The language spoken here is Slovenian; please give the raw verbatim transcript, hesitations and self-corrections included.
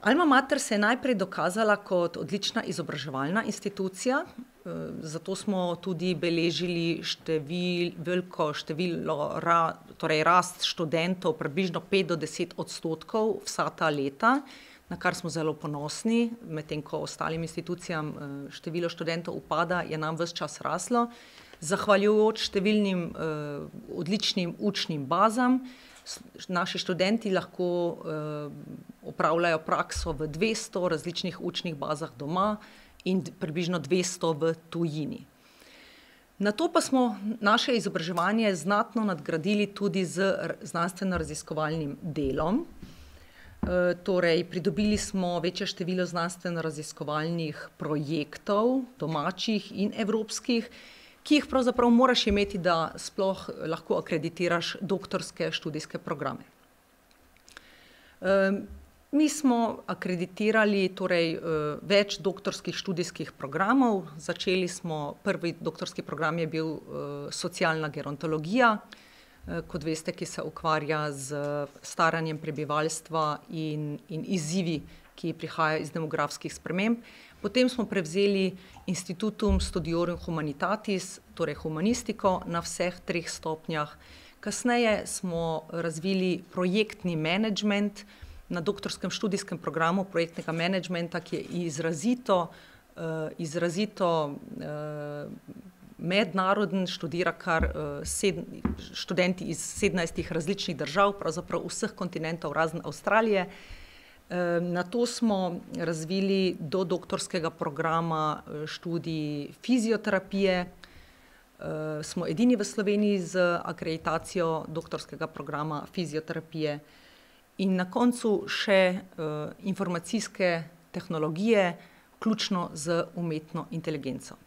Alma Mater se je najprej dokazala kot odlična izobraževalna institucija, zato smo tudi beležili števil, veliko število torej rast študentov, približno pet do deset odstotkov vsa ta leta, na kar smo zelo ponosni, medtem ko ostalim institucijam število študentov upada, je nam ves čas raslo. Zahvaljujoč številnim odličnim učnim bazam, naši študenti lahko opravljajo prakso v dvesto različnih učnih bazah doma in približno dvesto v tujini. Nato pa smo naše izobraževanje znatno nadgradili tudi z znanstveno-raziskovalnim delom. Torej, pridobili smo večje število znanstveno-raziskovalnih projektov, domačih in evropskih, ki jih pravzaprav moraš imeti, da sploh lahko akreditiraš doktorske študijske programe. Mi smo akreditirali torej več doktorskih študijskih programov. Začeli smo, prvi doktorski program je bil socialna gerontologija, kot veste, ki se ukvarja z staranjem prebivalstva in, in izzivi, ki prihajajo iz demografskih sprememb. Potem smo prevzeli Institutum Studiorum Humanitatis, torej humanistiko na vseh treh stopnjah. Kasneje smo razvili projektni menedžment na doktorskem študijskem programu projektnega menedžmenta, ki je izrazito, izrazito mednaroden, študira kar študenti iz sedemnajstih različnih držav, pravzaprav vseh kontinentov razen Avstralije. Nato smo razvili do doktorskega programa študij fizioterapije. Smo edini v Sloveniji z akreditacijo doktorskega programa fizioterapije. In na koncu še informacijske tehnologije, vključno z umetno inteligenco.